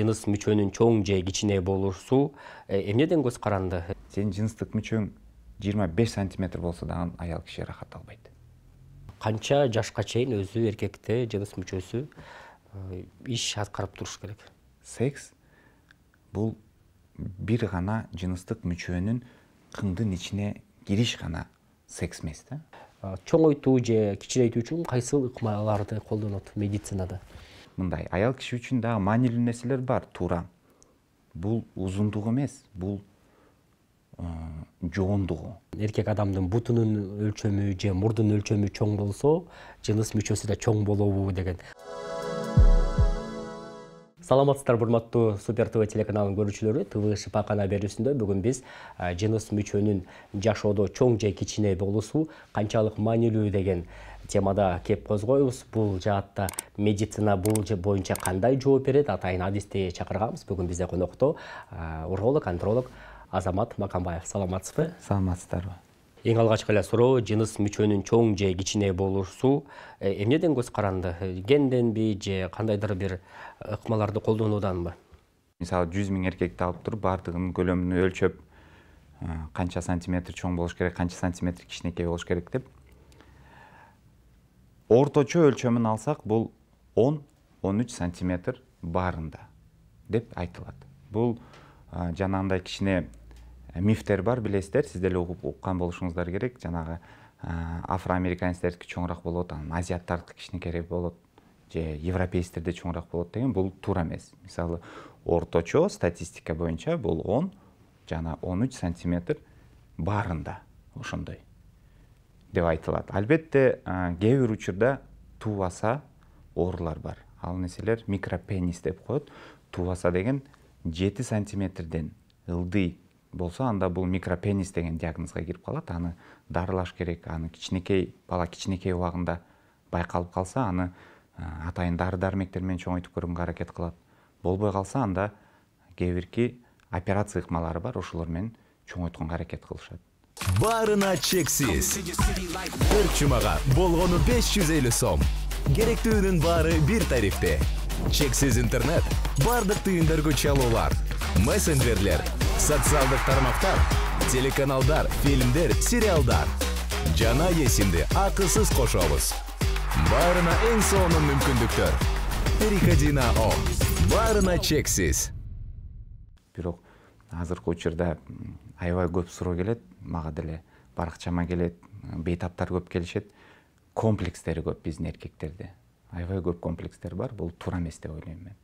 жыныс мүчөнүн чоң же кичине болуусу эмнеден көз каранды? Сенин жыныстык мүчөң 25 сантиметр болсо дагы аял киши рахат албайт. Канча жашка чейин өзү эркекте жыныс мүчөсү иш аткарып туруш керек? Секс бул бир гана жыныстык мүчөнүн кыңдын ичине кириш гана секс эмес да. Чоңойтуу же кичирейтүү үчүн кайсыл ыкмаларды колдонот медицинада? Мындай, аял киши үчүн дагы маанилүү нерселер бар, туура. Бул узундугу эмес, бул жоондугу. Эркек адамдын бутунун өлчөмү же мурдунун өлчөмү чоң болсо, жыныс мүчөсү да чоң болобу деген. Саламатсыздар, урматтуу Супер ТВ телеканалынын көрүүчүлөрү. ТВ шифакана берүүсүндө бүгүн биз жыныс мүчөнүн жашоодо чоң же кичине болуусу канчалык маанилүү деген темада кеп козгойбуз. Бул жаатта медицина бул боюнча кандай жооп берет? Атайын адисти чакырганбыз. Бүгүн бизде конокто уролог, андролог Азамат Макамбаев. Саламатсызбы? Саламатсыздарбы? Эң алгачкы эле суроо, жыныс мүчөнүн чоң же кичине болуусу эмнеден көз каранды? Генденби же кандайдыр бир ыкмаларды колдонууданбы? Мисалы 100 000 эркекти алып туруп, бардыгынын көлөмүн өлчөп, канча сантиметр чоң болуш керек, канча сантиметр кичинекей болуш керек деп. Орточо өлчөмүн алсак, бул 10-13 сантиметр баарында деп айтылат. Бул жанагындай кичине мифтер бар, билесиздер, сиз деле уккан болушуңуздар керек. Жанагы афроамериканецтердики чоңураак болот, анан азиаттардыкы кичинекейирээк болот, же европейцтерде чоңураак болот деген бул туура эмес. Мисалы, орточо статистика боюнча бул 10 жана 13 сантиметр баарында, ошондой деп айтылат. Албетте, кээ бир учурда туубаса оорулар бар. Ал нерселер микропенис деп коет. Туубаса деген 7 сантиметрден ылдый болсо, анда бул микропенис деген диагнозго кирип калат. Аны дарылаш керек. Аны бала кичинекей убагында байкалып калса, аны атайын дары-дармектер менен чоңойтуп көргөнгө аракет кылат. Болбой калса, анда кээ бирки операция ыкмалары бар, ошолор менен чоңойтконго аракет кылышат. Баарына чексиз. Бир чумага болгону 550 сом. Керектүүнүн баары бир тарифте. Чексиз интернет, бардык түйүндөргө чалуулар, мессенджерлер, социалдык тармактар, телеканалдар, фильмдер, сериалдар. Жана эсимди акысыз кошобуз. Баарына эң сонун мүмкүндүктөр. Переходи.com. Баарына чексиз. Бирок азыркы учурда аябай көп суроо келет, мага деле баракчама келет, бейтаптар көп келишет. Комплекстери көп биздин эркектерде. Аябай көп комплекстер бар, бул туура эмес деп ойлойм мен.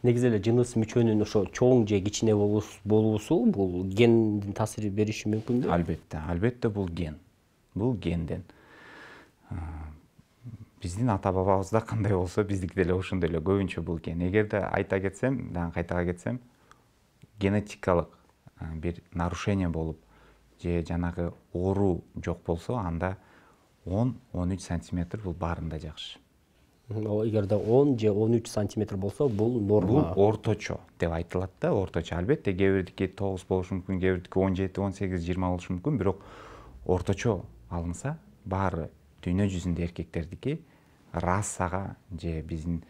Негизи эле жыныс мүчөнүн ошо чоң же кичине болуусу бул гендин таасир бериши мүмкүнбү? Албетте бул ген. Бул генден. Биздин ата-бабабызда кандай болсо, биздики деле ошондой эле, көбүнчө бул ген. Эгерде айта кетсем, дагы кайтага кетсем, генетикалык бир нарушение болуп, же жанагы оору жок болсо, анда 10-13 сантиметр бул баарында жакшы. Эгерде 10 же 13 сантиметр болсо, бул норма. Бул орточо деп айтылат да, орточо. Албетте, кээ бирдики 9 болушу мүмкүн, кээ бирдики 17, 18, 20 болушу мүмкүн, бирок орточо алынса, баары дүйнө жүзүндө эркектердики расага же биздин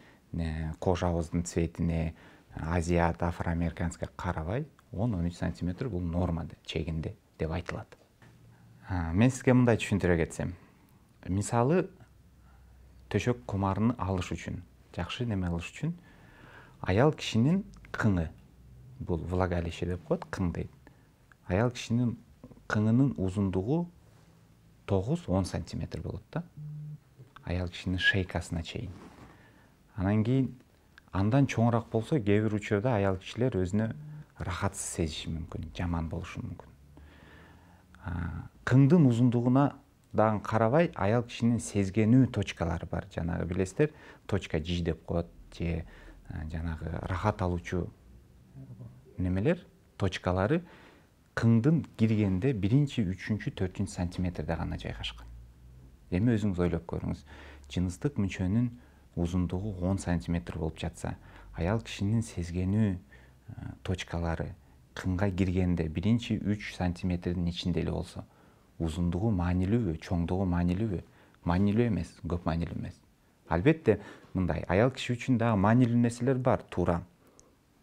кожабыздын цветине, азиат, афроамериканецке карабай 10-13 сантиметр бул норма чегинде деп айтылат. Мен сизге мындай түшүндүрө кетсем. Мисалы, төшөк комарын алыш үчүн, жакшы неме алыш үчүн, аял кишинин кыңы, бул влагалище деп коет, кың дейт. Аял кишинин кыңынын узундугу 9-10 сантиметр болот да. Аял кишинин шейкасына чейин. Анан кийин андан чоңураак болсо, кээ бир учурда аял кишилер өзүнө рахатсыз сезиши мүмкүн, жаман болушу мүмкүн. Кыңдын узундугуна дагы карабай, аял кишинин сезгенүү точкалары бар. Жанагы билесиздер, точка G деп коет, же жанагы рахат алуучу немелер, точкалары кыңдын киргенде 1-чи, 3-чү, 4-чү сантиметрде гана жайгашкан. Эми өзүңүз ойлоп көрүңүз. Жыныстык мүчөнүн узундугу 10 сантиметр болуп жатса, аял кишинин сезгенүү точкалары кыңга киргенде 1-чи, 3 сантиметрдин ичинде эле болсо, узундугу маанилүүбү, чоңдугу маанилүүбү? Маанилүү эмес, көп маанилүү эмес. Албетте мындай аял киши үчүн дагы маанилүү нерселер бар. Туура.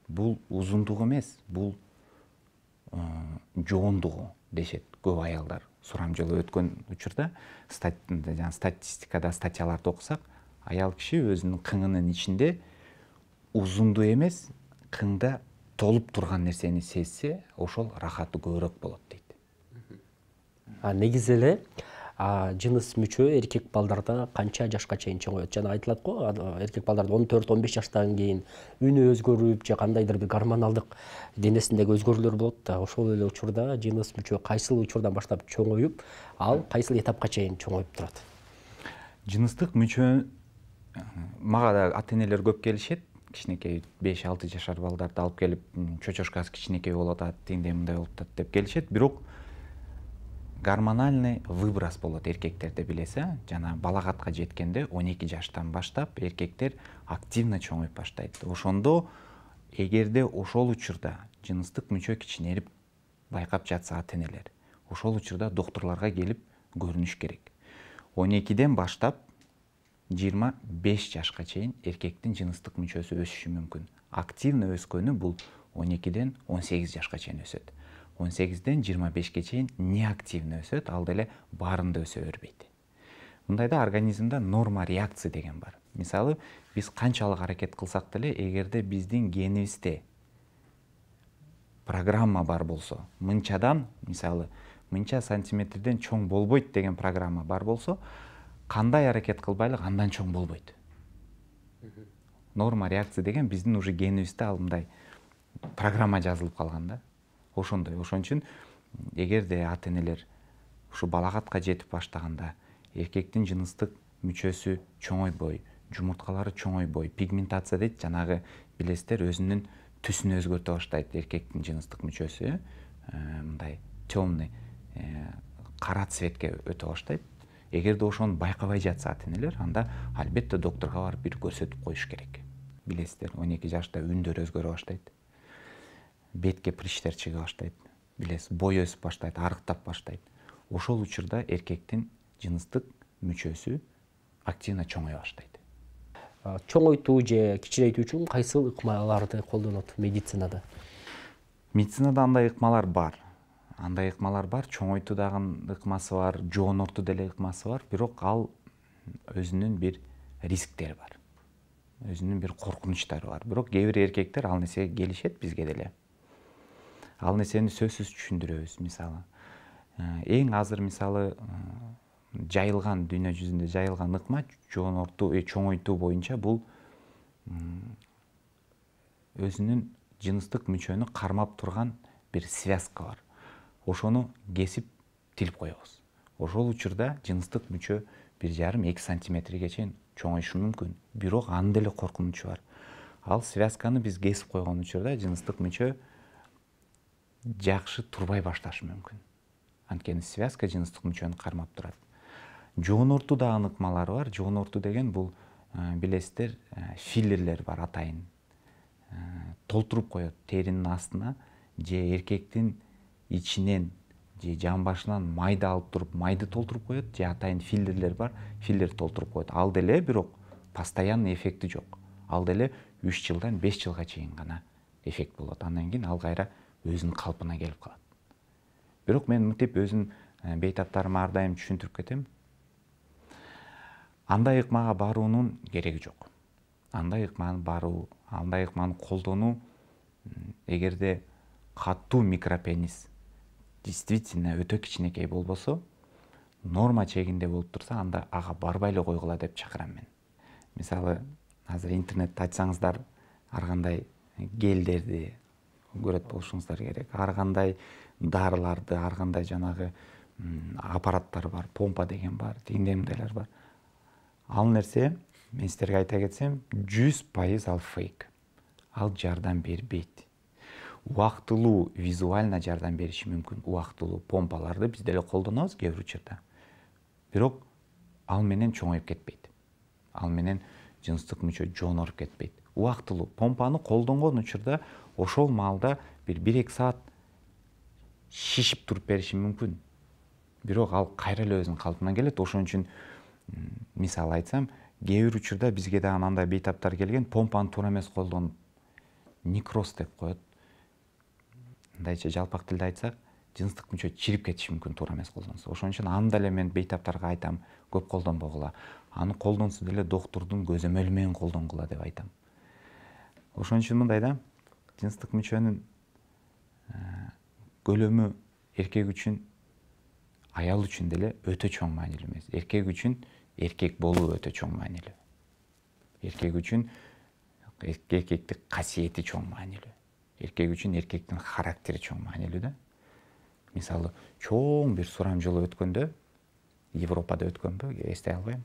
Бул узундук эмес, бул жоондугу дешет көп аялдар. Сурам жолу өткөн учурда статистикада статьяларды окусак, аял киши өзүнүн кыңынын ичинде узунду эмес, кыңда толуп турган нерсени сезсе, ошол рахаты көбүрөөк болот дейт. Негизи эле жыныс мүчө эркек балдарда канча жашка чейин чоңоет? Жана айтылат го, эркек балдарда 14-15 жаштан кийин үнү өзгөрүп же кандайдыр бир гормоналдык денесиндеги өзгөрүүлөр болот да. Ошол эле учурда жыныс мүчө кайсыл учурдан баштап чоңоюп, ал кайсыл этапка чейин чоңоюп турат? Жыныстык мүчө мага да ата-энелер көп келишет. Кичинекей 5-6 жашар балдарды алып келип, чочошкасы кичинекей болуп атат, тиңдей мындай болуп атат деп келишет. Бирок гормональный выброс болот эркектерде, билесиз, жана балагатка жеткенде 12 жаштан баштап эркектер активно чоңоюп баштайт. Ошондо эгерде ошол учурда жыныстык мүчө кичинелип байкап жатса ата-энелер, ошол учурда докторлорго келип көрүнүш керек. 12ден баштап 25 жашка чейин эркектин жыныстык мүчөсү өсүшү мүмкүн. Активно өскөнү бул 12ден 18 жашка чейин өсөт. 18ден 25ке чейин неактивно өсөт, ал деле баарында өсө бербейт. Мындайда организмде норма реакция деген бар. Мисалы, биз канчалык аракет кылсак деле, эгерде биздин генибизде программа бар болсо, мынчадан, мисалы, мынча сантиметрден чоң болбойт деген программа бар болсо, кандай аракет кылбайлык андан чоң болбойт. Норма реакция деген биздин уже генибизде ал мындай программа жазылып калган да. Ошондой. Ошон үчүн эгерде ата-энелер ушу балагатка жетип баштаганда эркектин жыныстык мүчөсү чоңойбой, жумурткалары чоңойбой, пигментация дейт, жанагы билесиздер, өзүнүн түсүн өзгөртө баштайт эркектин жыныстык мүчөсү, мындай темный, кара цветке өтө баштайт. Эгерде ошону байкабай жатса ата-энелер, анда албетте докторго барып бир көрсөтүп коюш керек. Билесиздер, 12 жашта үндөр өзгөрө баштайт. Бетке прыщтер чыга баштайт, билесиз, бой өсүп баштайт, арыктап баштайт. Ошол учурда эркектин жыныстык мүчөсү активно чоңое баштайт. Чоңойтуу же кичирейтүү үчүн кайсыл ыкмаларды колдонот медицинада? Медицинада андай ыкмалар бар. Чоңойтуу дагы ыкмасы бар, жоонортуу деле ыкмасы бар, бирок ал өзүнүн бир рисктери бар. Өзүнүн бир коркунучтары бар. Бирок кээ бир эркектер ал нерсеге келишет бизге деле. Ал нерсени сөзсүз түшүндүрөбүз. Мисалы, эң азыр мисалы жайылган, дүйнө жүзүндө жайылган ыкма жоонортуу, чоңойтуу боюнча бул өзүнүн жыныстык мүчөнү кармап турган бир связка бар. Ошону кесип тилип коебуз. Ошол учурда жыныстык мүчө 1,5-2 сантиметрге чейин чоңоюшу мүмкүн. Бирок анын деле коркунучу бар. Ал связканы биз кесип койгон учурда жыныстык мүчө жакшы турбай башташы мүмкүн. Анткени связка жыныстык мүчөнү кармап турат. Жоонортуу дагы ыкмалары бар. Жоонортуу деген бул, билесиздер, филлерлер бар атайын. Толтуруп коет теринин астына, же эркектин ичинен, же жан башынан майды алып туруп, майды толтуруп коет, же атайын филлерлер бар, филлер толтуруп коет. Ал деле бирок постоянный эффекти жок. Ал деле 3 жылдан 5 жылга чейин гана эффект болот. Андан кийин ал кайра өзүнүн калпына келип калат. Бирок мен мынтип өзүм бейтаптарыма ар дайым түшүндүрүп кетем. Андай ыкмага баруунун кереги жок. Андай ыкманы колдонуу, эгерде катуу микропенис действительно өтө кичинекей болбосо, норма чегинде болуп турса, анда ага барбай эле койгула деп чакырам мен. Мисалы, азыр интернетте ачсаңыздар, ар кандай гелдерди көрөт болушуңуздар керек. Ар кандай дарыларды, ар кандай жанагы аппараттар бар, помпа деген бар, тигиндей мындайлар бар. Ал нерсе, мен сиздерге айта кетсем, 100% ал фейк. Ал жардам бербейт. Убактылуу визуально жардам бериши мүмкүн. Убактылуу помпаларды биз деле колдонобуз кээ бир учурда. Бирок ал менен чоңоюп кетпейт. Ал менен жыныстык мүчө жооноруп кетпейт. Убактылуу помпаны колдонгон учурда ошол маалда бир 1-2 саат шишип туруп бериши мүмкүн. Бирок ал кайра эле өзүнүн калпына келет. Ошон үчүн мисалы айтсам, кээ бир учурда бизге дагы андай бейтаптар келген, помпаны туура эмес колдонуп некроз деп коет. Мындайча жалпак тилде айтсак, жыныстык мүчө чирип кетиши мүмкүн туура эмес колдонсо. Ошон үчүн аны деле мен бейтаптарга айтам, көп колдонбогула. Аны колдонсо деле доктурдун көзөмөлү менен колдонгула деп айтам. Ошон үчүн мындай да, жыныстык мүчөнүн көлөмү эркек үчүн, аял үчүн деле өтө чоң маанилүү эмес. Эркек үчүн эркек болуу өтө чоң маанилүү. Эркек үчүн эркектик касиети чоң маанилүү. Эркек үчүн эркектин характери чоң маанилүү да. Мисалы, чоң бир сурам жолу өткөндө, Европада өткөнбү, эстей албайм.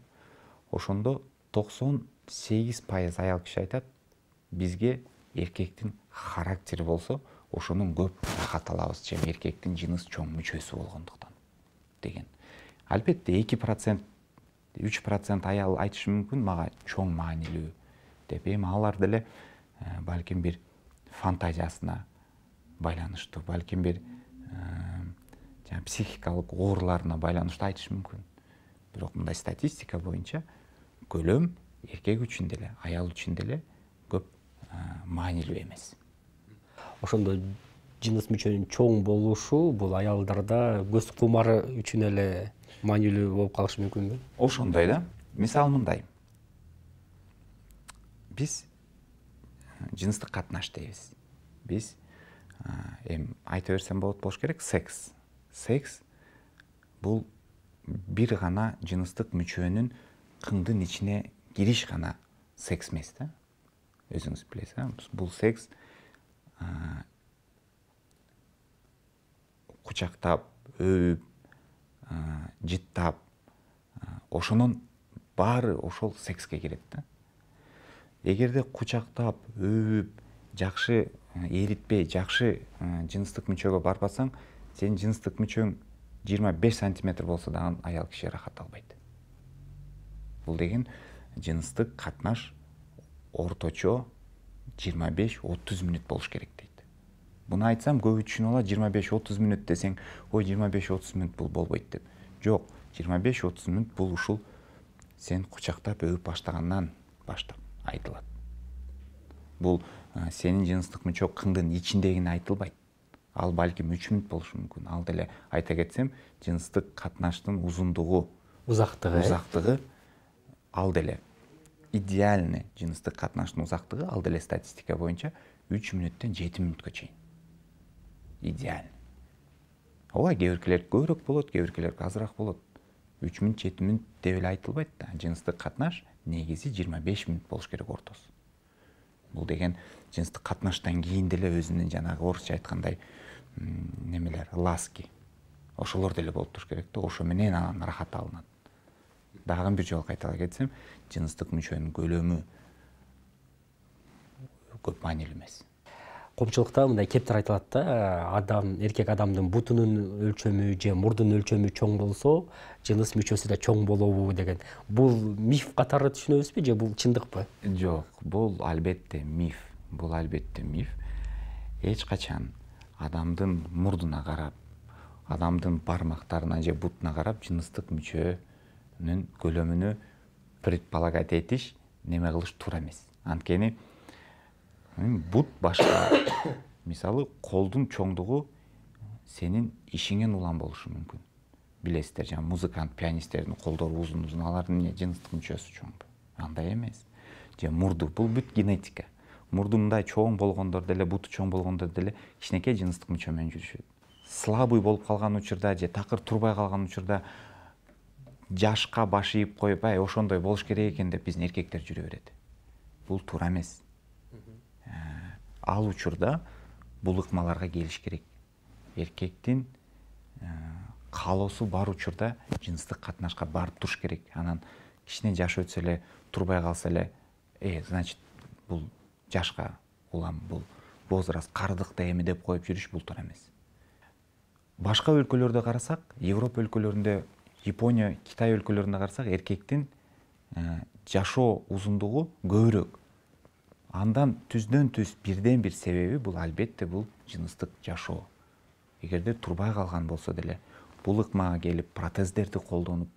Ошондо 98% аял киши айтат, бизге эркектин характери болсо, ошонун көп рахат алабыз, чем эркектин жыныс чоң мүчөсү болгондуктан деген. Албетте 2%, 3% аял айтышы мүмкүн, мага чоң маанилүү деп. Эми алар деле балким бир фантазиясына байланыштуу, балким бир психикалык ооруларына байланыштуу айтышы мүмкүн. Бирок мындай статистика боюнча көлөм эркек үчүн деле, аял үчүн деле көп маанилүү эмес. Ошондо жыныс мүчөнүн чоң болушу бул аялдарда көз кумары үчүн эле маанилүү болуп калышы мүмкүнбү? Ошондой да. Мисалы мындай. Биз жыныстык катнаш дейбиз. Биз эми айта берсем болуш керек, секс. Секс бул бир гана жыныстык мүчөнүн кыңдын ичине кириш гана секс эмес да. Өзүңүз билесиз, бул секс кучактап, өбүп, жыттап, ошонун баары ошол секске кирет да. Эгерде кучактап, өбүп, жакшы эритпей, жакшы жыныстык мүчөгө барбасаң, сенин жыныстык мүчөң 25 сантиметр болсо дагы аял киши рахат албайт. Бул деген жыныстык катнаш орточо 25-30 мүнөт болуш керек дейт. Буну айтсам көп түшүнүп алат, 25-30 мүнөт десең, ой 25-30 мүнөт бул болбойт деп. Жок, 25-30 мүнөт бул ушул сен кучактап өбүп баштагандан баштап айтылат. Бул сенин жыныстык мүчө кыңдын ичиндегине айтылбайт. Ал балким 3 мүнөт болушу мүмкүн. Ал деле айта кетсем, жыныстык катнаштын узундугу, узактыгы ал деле идеальный жыныстык катнаштын узактыгы ал деле статистика боюнча 3 мүнөттөн 7 мүнөткө чейин. Идеаль. Ооба, кээ биркилер көбүрөөк болот, кээ биркилер азыраак болот. 3 мүнөт, 7 мүнөт деп эле айтылбайт да. Жыныстык катнаш негизи 25 мүнөт болуш керек ортосу. Бул деген жыныстык катнаштан кийин деле өзүнүн жанагы орусча айткандай немелер, ласки. Ошолор деле болуп туруш керек да, ошо менен анан рахат алынат. Дагы бир жолу кайталай кетсем, жыныстык мүчөнүн көлөмү көп маанилүү эмес. Коомчулукта мындай кептер айтылат да, эркек адамдын бутунун өлчөмү же мурдун өлчөмү чоң болсо, жыныс мүчөсү да чоң болобу деген. Бул миф катары түшүнөбүзбү же бул чындыкпы? Жок, бул албетте миф. Бул албетте миф. Эч качан адамдын мурдуна карап, адамдын бармактарына же бутуна карап жыныстык мүчөнүн көлөмүнү предполагать этиш, неме кылыш туура эмес. Анткени бут башка. Мисалы, колдун чоңдугу сенин ишиңен улам болушу мүмкүн. Билесиздер, жана музыкант, пианисттердин колдору узун-узун, алардын жыныстык мүчөсү чоңбу? Андай эмес. Же мурду, бул бүт генетика. Мурду мындай чоң болгондор деле, буту чоң болгондор деле кичинекей жыныстык мүчө менен жүрүшөт. Слабый болуп калган учурда же такыр турбай калган учурда жашка баш ийип коюп, ошондой болуш керек экен деп биздин эркектер жүрө берет. Бул туура эмес. Ал учурда бул ыкмаларга келиш керек. Эркектин каалоосу бар учурда жыныстык катнашка барып туруш керек. Анан кичине жаш өтсө эле, турбай калса эле, значит, бул жашка улам, бул возраст, кардык да эми деп коюп жүрүш бул туура эмес. Башка өлкөлөрдө карасак, Европа өлкөлөрүндө, Япония, Китай өлкөлөрүндө карасак, эркектин жашоо узундугу көбүрөөк. Андан түздөн түз бирден бир себеби бул албетте бул жыныстык жашоо. Эгерде турбай калган болсо деле, бул ыкмага келип протездерди колдонуп,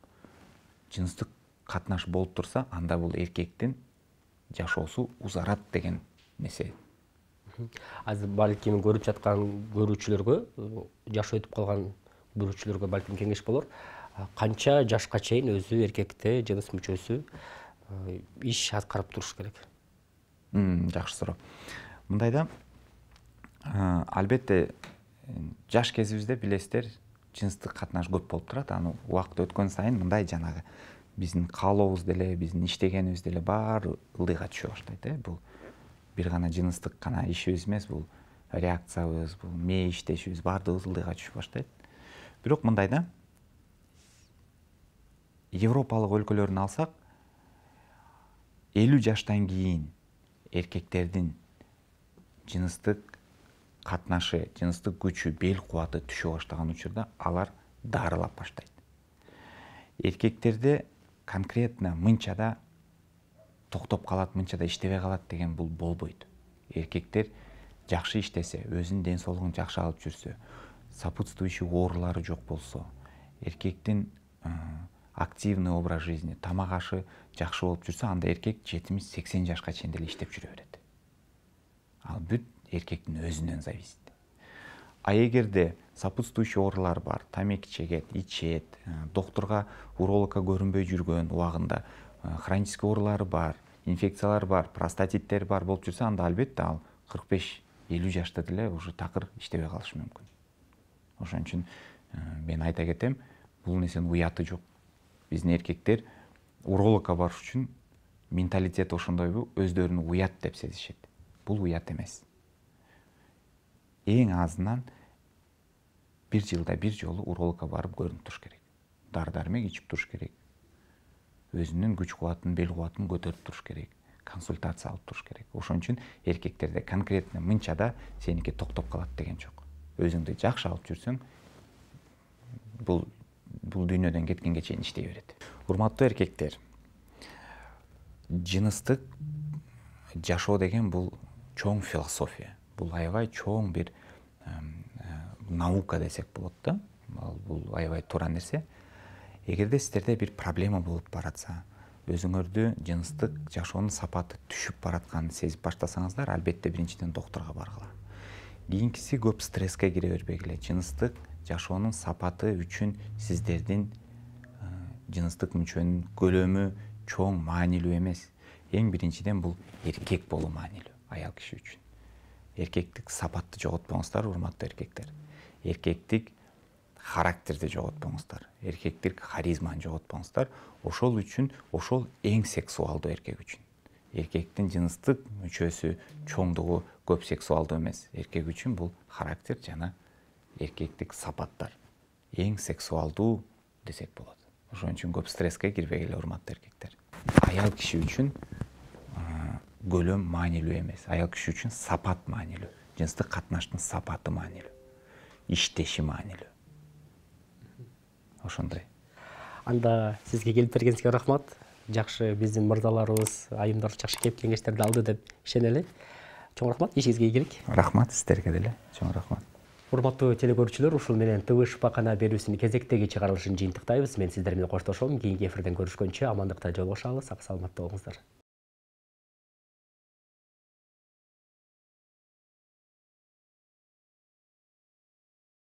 жыныстык катнаш болуп турса, анда бул эркектин жашоосу узарат деген нерсе. Азыр балким көрүп жаткан көрүүчүлөргө, жашы өтүп калган көрүүчүлөргө балким кеңеш болор. Канча жашка чейин өзү эркекте жыныс мүчөсү иш аткарып туруш керек? Жакшы суроо. Мындайда, албетте жаш кезибизде билесиздер, жыныстык катнаш көп болуп турат. Аны убакыт өткөн сайын мындай жанагы биздин каалообуз деле, биздин иштегенибиз деле баары ылдыйга түшө баштайт. Бул бир гана жыныстык гана ишибиз эмес, бул реакциябыз, бул мээ иштешибиз баардыгыбыз ылдыйга түшүп баштайт. Бирок мындайда, Европалык өлкөлөрүн алсак, 50 жаштан кийин эркектердин жыныстык катнашы, жыныстык күчү, бел кубаты түшө баштаган учурда алар дарылап баштайт. Эркектерде конкретно мынчада токтоп калат, мынчада иштебей калат деген бул болбойт. Эркектер жакшы иштесе, өзүнүн ден соолугун жакшы алып жүрсө, сопутствующий оорулары жок болсо, эркектин активный образ жизни, тамак ашы жакшы болуп жүрсө, анда эркек 70-80 жашка чейин деле иштеп жүрө берет. Ал бүт эркектин өзүнөн зависит. А эгерде сопутствующий оорулар бар, тамеки чегет, ичет, доктурга, урологко көрүнбөй жүргөн убагында, хронический оорулары бар, инфекциялар бар, простатиттер бар болуп жүрсө, анда албетте ал 45-50 жашта деле уже такыр иштебей калышы мүмкүн. Ошон үчүн мен айта кетем, бул нерсенин уяты жок. Биздин эркектер урологко барыш үчүн менталитет ошондойбу, өздөрүн уят деп сезишет. Бул уят эмес. Эң азынан 1 жылда 1 жолу урологко барып көрүнүп туруш керек. Дары-дармек ичип туруш керек. Өзүнүн күч кубатын, бел кубатын көтөрүп туруш керек. Консультация алып туруш керек. Ошон үчүн эркектерде конкретно мынчада сеники токтоп калат деген жок. Өзүңдү жакшы алып жүрсөң, бул дүйнөдөн кеткенге чейин иштей берет. Урматтуу эркектер, жыныстык жашоо деген бул чоң философия. Бул аябай чоң бир наука десек болот да. Бул аябай туура нерсе. Эгерде сиздерде бир проблема болуп баратса, өзүңөрдү жыныстык жашоонун сапаты түшүп баратканын сезип баштасаңыздар, албетте биринчиден доктурга баргыла. Кийинкиси көп стресске кире бербегиле. Жыныстык жашоонун сапаты үчүн сиздердин жыныстык мүчөнүн көлөмү чоң маанилүү эмес. Эң биринчиден бул эркек болуу маанилүү аял киши үчүн. Эркектик сапатты жоготпоңуздар, урматтуу эркектер. Эркектик характерди жоготпоңуздар. Эркектик харизманы жоготпоңуздар. Ошол үчүн, ошол эң сексуалдуу эркек үчүн. Эркектин жыныстык мүчөсү чоңдугу көп сексуалдуу эмес. Эркек үчүн бул характер жана эркектик сапаттар. Эң сексуалдуу десек болот. Ошон үчүн көп стресске кирбегиле, урматтуу эркектер. Аял киши үчүн көлөм маанилүү эмес. Аял киши үчүн сапат маанилүү. Жыныстык катнаштын сапаты маанилүү. Иштеши маанилүү. Ошондой. Анда сизге келип бергениңизге рахмат. Жакшы биздин мырзаларыбыз айымдар жакшы кеп кеңештерди алды деп ишенели. Чоң рахмат, ишиңизге ийгилик. Рахмат сиздерге деле. Чоң рахмат. Урматтуу телекөрүүчүлөр, ушул менен ТВ Шпакана берүүсүнүн кезектеги чыгарылышын жыйынтыктайбыз. Мен сиздер менен коштошом. Кийинки эфирден көрүшкөнчө амандыкта жолугушабыз. Сак саламатта болуңуздар.